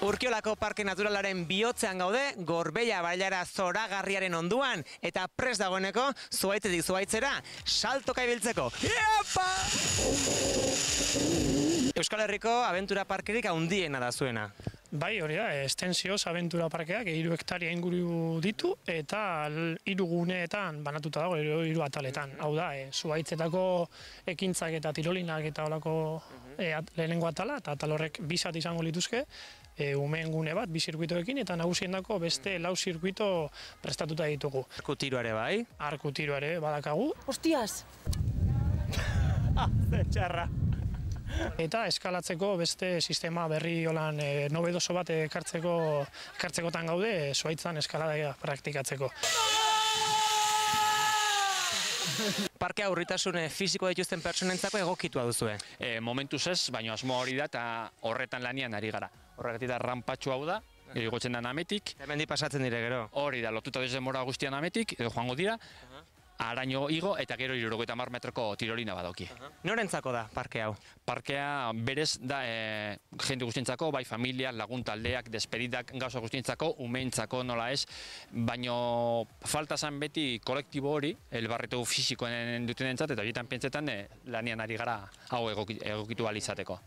Urkiolako Parke Naturalaren bihotzean gaude, Gorbeia bailara zoragarriaren onduan, eta prest dagoeneko zuhaitzetik zuhaitzera saltoka ibiltzeko. Iepa! Euskal Herriko abentura parkerik handiena da zuena. Bai, hori da, Estensioz abentura parkeak 3 hektaria inguru ditu eta 3 guneetan banatuta dago, 3 ataletan. Hau da, zuhaitzetako ekintzak eta tirolinak eta holako lehenengo atala, eta atal horrek 2 zati izango lituzke, umeen gune bat, 2 zirkuitoekin, eta nagusiendako beste 4 zirkuito prestatuta ditugu. Arku tiro ere bai? Arku tiro ere badakagu. Hostias! Ze txarra! Eta eskalatzeko beste sistema berri holan nobedoso bat ekartzekotan gaude, zuhaitzan eskalada praktikatzeko. Parkea urritasun fisiko dituzten pertsonentzako egokitua duzue. Momentuz ez, baina asmoa hori da eta horretan lanian ari gara. Horregatik da rampatxu hau da, igotzen da ametik. Hemendi pasatzen dire gero. Hori da, lotuta denbora guztian ametik, edo joango dira, araño igo eta gero 70 metroko tirolina badoki. Norentzako da parke hau? Parkea berez da jende guztientzako, bai familia, lagun taldeak, despedidak, gauza guztientzako, umeentzako nola ez, baino falta zen beti kolektibo hori, elbarretu fisikoen dutenentzat, eta horietan pentsetan lanian ari gara hau egokitu ahal izateko.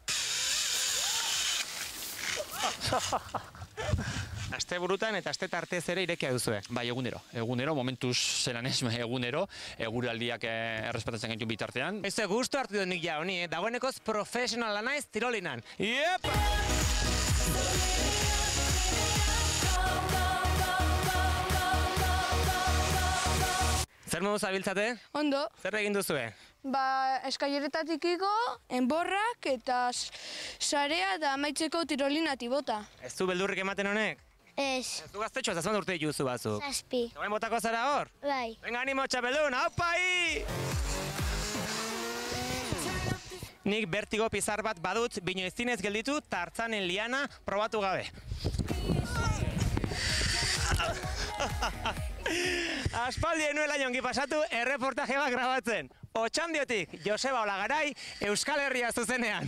Aste burutan eta aste tartez ere irekia duzue. Bai, egunero, momentuz zelan ez, egunero, eguraldiak errespetatzen gaitu bitartean. Ez gustu hartu dut nik ja honi, dagoenekoz profesionala naiz tirolinan. Iepa! Zer moduz abiltzate? Ondo. Zer egin duzue? Eskaileretatik igo, enborrak eta sarea da amaitzeko tirolinati bota. Ez du beldurrik ematen honek? Ez. Ez du gaztetxo, ez urte dituzu batzuk. 7. Zagoen botako zara hor? Bai. Venga, animo txapeldun, aupai! Nik bertigo pizar bat badut, bino ezinez gelditu, tartzanen liana probatu gabe. Aspaldi enuela jongi pasatu erreportaje bat grabatzen. Otxandiotik, Joseba Olagarai, Euskal Herria zuzenean.